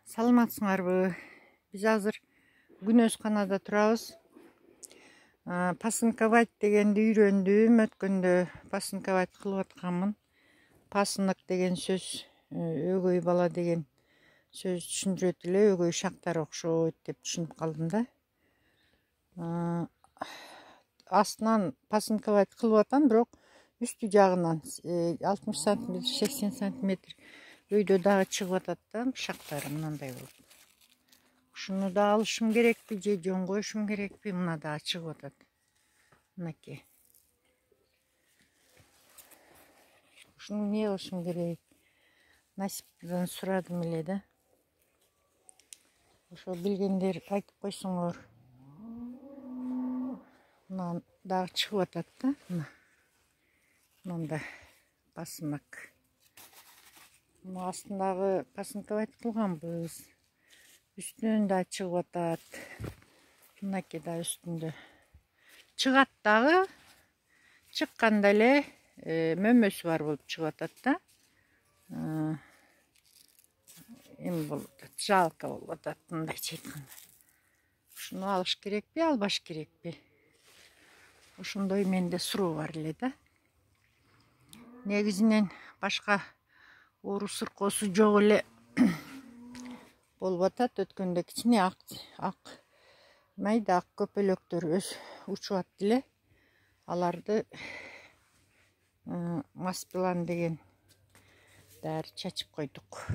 Саламатсыңарбы? Биз азыр Күнөзканада турабыз. Пасынковать дегенди үйрөндүм. Өткөндө пасынковать кылып атканмын. Пасынок деген сөз өгөй бала деген сөз түшүндүрөт эле. Өгөй шактар окшойт деп түшүнүп калдым да. Астынан пасынковать кылып атам, бирок үстү жагынан 60 см, 80 см өйдө дагы чыгып атат да, шактары мындай болуп. Ушуну да алышым керекпи же жөн коюшум керекпи? Мына дагы чыгып атат. Мынакей. Ушуну эмне кылышым керек? Насиптен сурадым эле да. Ошо билгендер айтып койсоңор. Мына дагы чыгып атат да. Мында пасынок. Мына астындагы пасынковать кылганбыз. Үстүнөн да чыгып атат. Мынакей да үстүндө. Чыгат дагы. Чыкканда эле мөмөсү бар болуп чыгып атат да. Эми болуп атат, жалко болуп атат мындайча айтканда. Ушуну алыш керекпи, албаш керекпи? Ошондой менде суроо бар эле да. Негизинен башка оору сыркоосу жок эле болуп атат. Өткөндө кичине ак майда ак көпөлөктөр учуп атты эле. Аларды Маспилан деген дары чачып койдук.